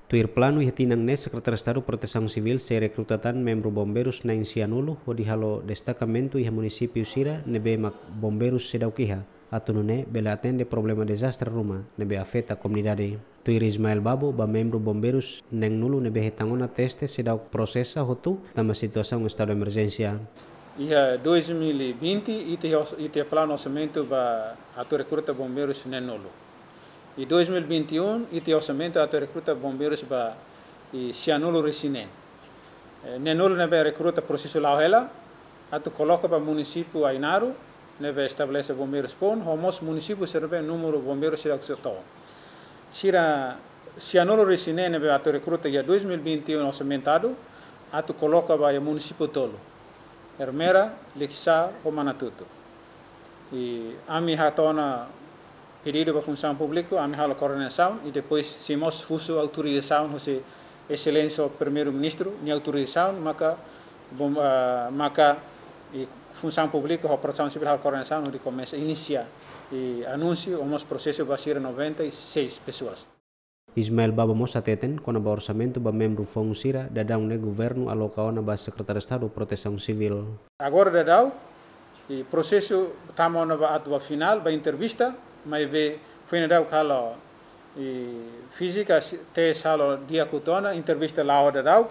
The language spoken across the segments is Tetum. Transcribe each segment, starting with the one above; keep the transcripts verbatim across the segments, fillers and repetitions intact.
Tuir planu iha tinan ne'e Sekretáriu Estadu Protesaun Sivíl sei rekruta tan membru bombeirus na'in sianulu hodi halo destakamentu iha munisípiu sira ne'ebé mak bombeirus seidauk iha, atu nune'e bele atende problema dezastre ruma ne'ebé afeta komunidade. Tuir Ismael Babo, ba membru bombeirus neenulu ne'ebé hetan ona teste seidauk prosesa hotu tanba situasaun estadu emerjénsia. Iha dois mil e vinte, ita, ita planu orsamentu ba atu rekruta bombeirus neenulu. I dois mil e vinte e um, ita orsamentu atu rekruta bombeirus ba i sianulu-resin-neen. Eh, neenulu ne'ebé rekruta prosesu la'o hela, atu koloka ba munisípiu Ainaro, ne'ebé estabelese bombeirus foun, ho mós munisípiu sira ne'ebé númeru bombeirus sira kuso to. Sira sianulu-resin-neen ne'ebé atu rekruta iha dois mil e vinte e um orsamentadu, atu koloka ba iha munisípiu tolu. Ermera, Likisá, ho Manatuto. I ami hato'o ona pedidu ba Funsaun Públika, ami halo koordenasaun, i depois sei mós husu autorizasaun, husi Exelénsia Primeiru-Ministru, nia autorizasaun, maka, bom, ah, maka, i Funsaun Públika, ho Protesaun Sivíl halo koordenasaun, hodi komesa inisia, i anúnsiu, ho mós prosesu ba sira noventa e seis pessoas. Ismael Babo mós hateten, kona-ba orsamentu ba membru foun sira, daudaun ne'e governu aloka ona ba Sekretáriu Estadu Protesaun Sivíl. Agora daudaun, i prosesu tama ona ba atu ba finál, ba entrevista, maibé foin daudaun halo, i fízika, si-, teste halo di'ak hotu ona, entrevista la'o daudaun,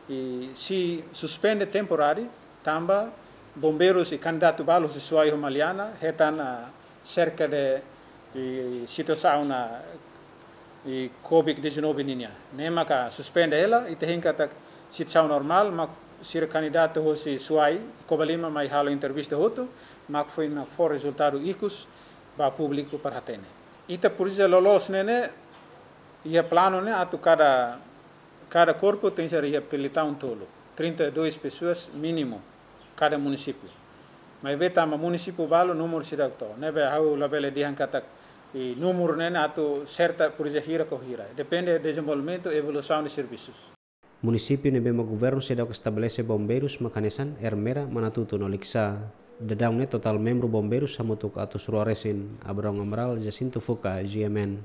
i sei suspende temporáriu, tanba bombeirus i kandidatu balu husi Suai ho Maliana, hetan, ah, serka de, i situasaun, ah, i Covid dezanove nian. Ne'e maka suspende hela, ita hein katak situasaun normál, mak sira kandidatu husi Suai, Covalima mai halo entrevista hotu, mak foin mak fó rezultadu ikus ba públiku para hatene. Ita presiza loloos ne'e ne'e, iha planu ne'e atu kada, kada korpu tenke ser iha pelitaun tolu, trinta e dois pessoas mínimu, kada munisípiu. Maibé tanba munisípiu balu númeru seidauk to. Ne'ebé ha'u labele dehan katak i númeru ne'e ne'e atu serta presiza hira ka hira. Depende dezenvolvimentu, evolusaun de servisus. Munisípiu ne'ebé mak governu seidauk estabelese bombeirus mak hanesan Ermera, Manatuto no Likisá. Daudaun ne'e totál membru bombeirus hamutuk atus rua resin. Abrão Amaral, Jacinto Fuca, G M N.